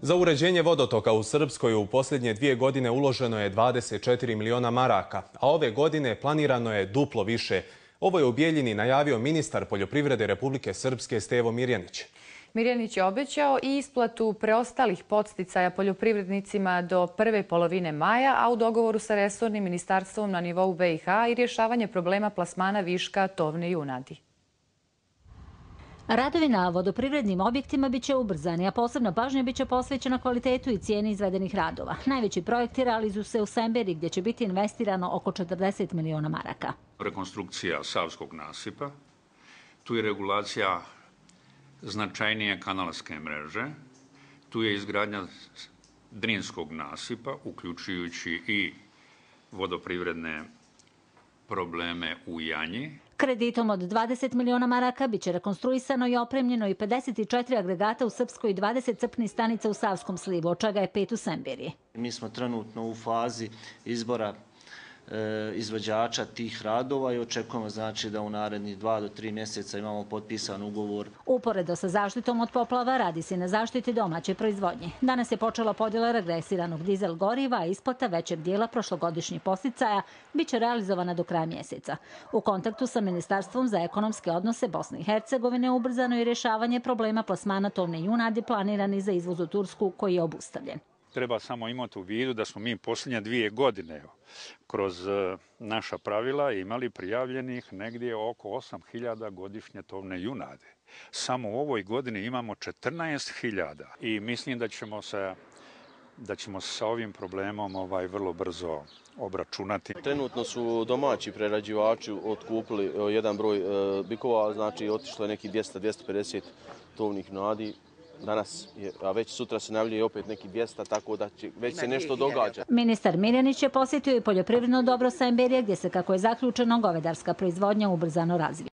Za uređenje vodotoka u Srpskoj u posljednje 2 godine uloženo je 24 miliona maraka, a ove godine planirano je duplo više. Ovo je u Bijeljini najavio ministar poljoprivrede Republike Srpske Stevo Mirjanić. Mirjanić je obećao i isplatu preostalih podsticaja poljoprivrednicima do prve polovine maja, a u dogovoru sa resornim ministarstvom na nivou BiH i rješavanje problema plasmana viška tovne junadi. Radovi na vodoprivrednim objektima biće ubrzani, a posebna pažnja biće posvećena kvalitetu i cijeni izvedenih radova. Najveći projekti realizuju se u Semberi, gdje će biti investirano oko 40 miliona maraka. Rekonstrukcija Savskog nasipa, tu je regulacija značajnije kanalske mreže, tu je izgradnja Drinskog nasipa, uključujući i vodoprivredne probleme u Janji. Kreditom od 20 miliona maraka biće rekonstruisano i opremljeno i 54 agregata u Srpskoj i 20 crpnih stanica u Savskom slivu, od čega je 5 u Semberi. Mi smo trenutno u fazi izbora izvođača tih radova i očekujemo da u narednih 2 do 3 mjeseca imamo potpisan ugovor. Uporedo sa zaštitom od poplava radi se na zaštiti domaće proizvodnje. Danas je počela podjela regresiranog dizel goriva, a isplata većeg dijela prošlogodišnjih podsticaja biće realizovana do kraja mjeseca. U kontaktu sa Ministarstvom za ekonomske odnose Bosne i Hercegovine ubrzano je rješavanje problema plasmana tovne junadi planirani za izvoz u Tursku, koji je obustavljen. Treba samo imati u vidu da smo mi posljednje 2 godine kroz naša pravila imali prijavljenih negdje oko 8.000 godišnje tovne junade. Samo u ovoj godini imamo 14.000 i mislim da ćemo se sa ovim problemom vrlo brzo obračunati. Trenutno su domaći prerađivači otkupili jedan broj bikova, znači otišlo je neki 200-250 tovnih junadi. Danas, a već sutra se najavljuje opet neki 200, tako da će već se nešto događa. Ministar Mirjanić je posjetio i poljoprivredno dobro Semberije, gdje se, kako je zaključeno, govedarska proizvodnja ubrzano razvija.